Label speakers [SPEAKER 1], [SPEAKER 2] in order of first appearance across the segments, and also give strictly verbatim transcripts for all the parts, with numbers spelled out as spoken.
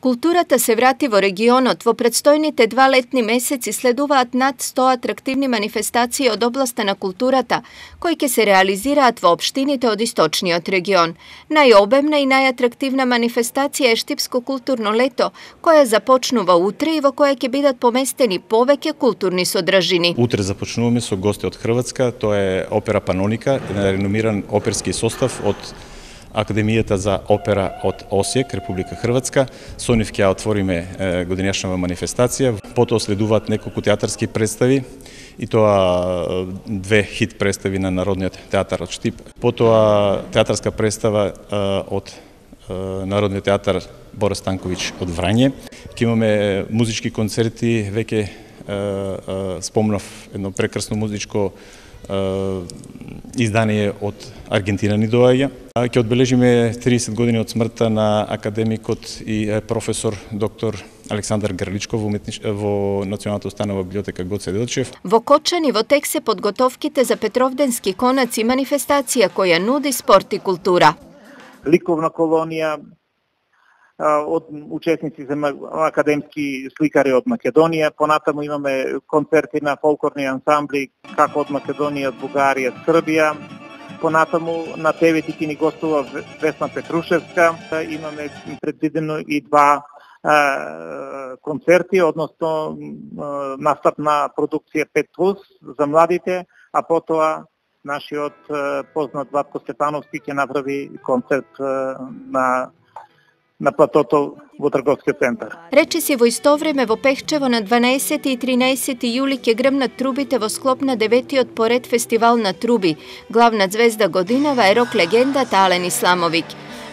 [SPEAKER 1] Културата се врати во регионот. Во предстојните два летни месеци следуваат над сто атрактивни манифестации од областа на културата, кои ќе се реализираат во општините од источниот регион. Најобемна и најатрактивна манифестација е Штипско културно лето, која започнува утре и во која ќе бидат поместени повеќе културни содржини.
[SPEAKER 2] Утре започнуваме со гости од Хрватска, тоа е опера Паноника, реномиран оперски состав од Академијата за опера од Осијек, Република Хрватска. Со нив ќе отвориме годинешнава манифестација. Потоа следуваат неколку театарски представи, и тоа две хит представи на Народниот театар од Штип. Потоа театарска представа од Народниот театар Борис Станковиќ од Врање. Ќе имаме музички концерти, веќе спомнав едно прекрасно музичко издание од Аргентина ни доаѓа. Ќе одбележиме триесет години од смртта на академикот и професор доктор Александар Грличков во, уметниш... во Националната установа библиотека Гоце Делчев.
[SPEAKER 1] Во Кочани во тек се подготовките за Петровденски конаци, манифестација која нуди спорт и култура.
[SPEAKER 3] Ликовна колонија од учесници за академски сликари од Македонија. Понатаму имаме концерти на фолклорни ансамбли како од Македонија, од Бугарија, Србија. Понатаму на Те Ве ти ни гостува Весна Петрушевска. Имаме предвидено и два концерти, односно настапна продукција пет плюс за младите, а потоа нашиот познат Владко Стефановски ќе направи концерт на на платото во трговскиот центар.
[SPEAKER 1] Речиси во исто време во Пехчево на дванаесети и тринаесети јули ќе грмнат трубите во склоп на деветиот поред фестивал на труби. Главна звезда годинава е рок легендата Ален Исламовиќ.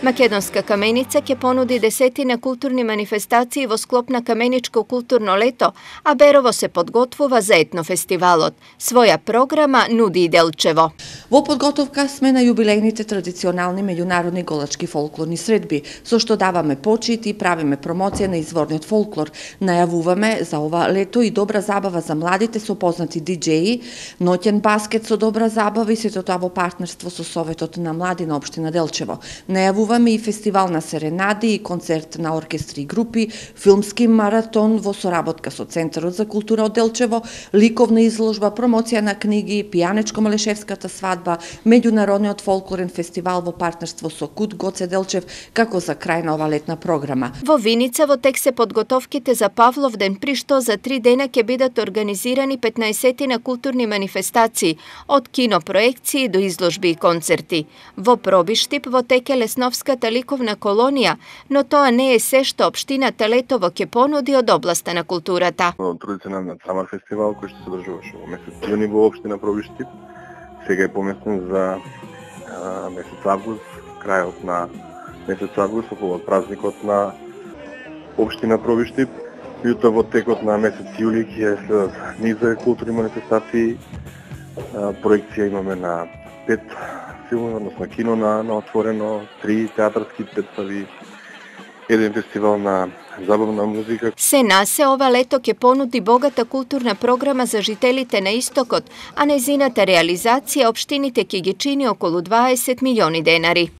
[SPEAKER 1] Македонска каменица ќе понуди десетина културни манифестации во склоп на Каменичко културно лето, а Берово се подготвува за етнофестивалот. Своја програма нуди и Делчево.
[SPEAKER 4] Во подготовка сме на јубилејните традиционални меѓународни голачки фолклорни средби, со што даваме почит и правиме промоција на изворниот фолклор. Најавуваме за ова лето и добра забава за младите со познати диџеи, ноќен баскет со добра забава и сето тоа во партнерство со Советот на млади на општина Делчево. Најавуваме и фестивал на серенади и концерт на оркестри и групи, филмски маратон во соработка со Центарот за култура од Делчево, ликовна изложба, промоција на книги, пијанечко-малешевската свадба, меѓународниот фолклорен фестивал во партнерство со КУТ Гоце Делчев, како за крај на ова летна програма.
[SPEAKER 1] Во Виница во тек се подготовките за Павловден, при што за три дена ќе бидат организирани петнаесетина културни манифестации, од кинопроекции до изложби и концерти. Во Пробиштип во тек е Лесновската ликовна колонија, но тоа не е се што општината Летово ќе понуди од областа на културата.
[SPEAKER 5] Традиционалниот самар фестивал кој што се одржуваше во месец јуни во општина Пробиштип, сега е поместен за а, месец август, крајот на месец август, околу празникот на општина Пробиштип. Јутоа во текот на месец јули ќе следат низ културни манифестации. А, проекција имаме на пет филми, односно кино на, на отворено, три театарски представи, еден фестивал на забавна музика.
[SPEAKER 1] Се насе ова лето ќе понуди богата културна програма за жителите на Истокот, а незината реализација општините ќе ги чини околу дваесет милиони денари.